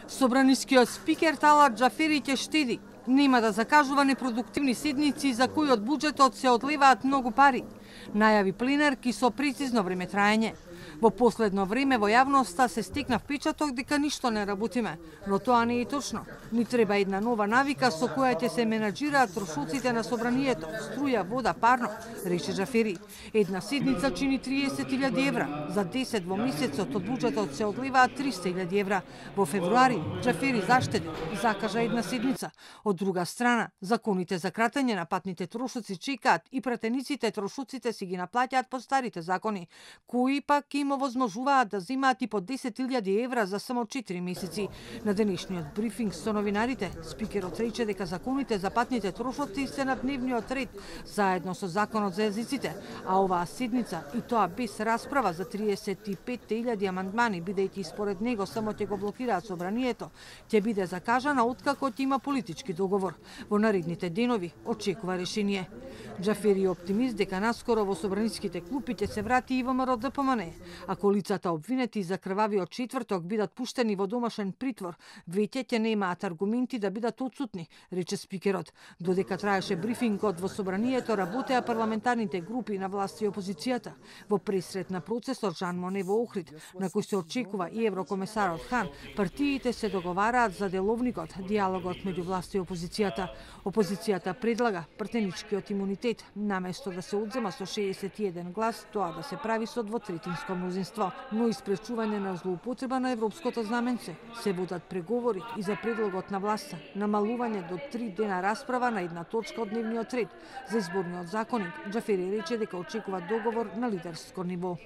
Собранискиот спикер Талат Џафери ќе штеди. Нема да закажува непродуктивни седници за кои од буџетот се одливаат многу пари. Најави пленерки со прецизно време траење. Во последно време во јавноста се стекна впечаток дека ништо не работиме, но тоа не е точно. Ни треба една нова навика со која ќе се менаџираат трошоците на собранието, струја, вода, парно, рече Џафери. Една седница чини 30.000 евра, за 10 во месецот од буџетот се одливаат 300.000 евра. Во февруари Џафери заштеди и закажа една седница. Од друга страна, законите за кратење на патните трошоци чекаат и пратениците трошоците си ги наплаќаат по старите закони, кои пак им овозможуваат да земаат и по 10.000 евра за само 4 месеци. На денешниот брифинг со новинарите, спикерот рече дека законите за патните трошоци се на дневниот ред, заедно со законот за езиците, а оваа седница, и тоа без расправа за 35.000 амандмани, бидејќи според него само ќе го блокираат собранието, ќе биде закажана откако ќе има политички договор. Во наредните денови очекува решение. Џафери е оптимист дека наскоро во собраниските клупи ќе се врати и ВМРО ДПМН. Ако лицата обвинети за крвавиот четврток бидат пуштени во домашен притвор, веќе ќе немаат аргументи да бидат отсутни, рече спикерот. Додека траеше брифингот во собранието, работеа парламентарните групи на власт и опозицијата. Во пресрет на процесот Жан Моне во Охрид, на кој се очекува и еврокомесарот Хан, партиите се договараат за деловникот, диалогот меѓу власт и опозицијата. Опозицијата предлага пратеничкиот имунитет, наместо да се одзема со 61 глас, тоа да се прави со двотретинско мнозинство, но и спречување на злоупотреба на европското знаменце. Се водат преговори и за предлогот на власта, намалување до 3 дена расправа на една точка од дневниот ред. За изборниот законник, Џафери рече дека очекува договор на лидерско ниво.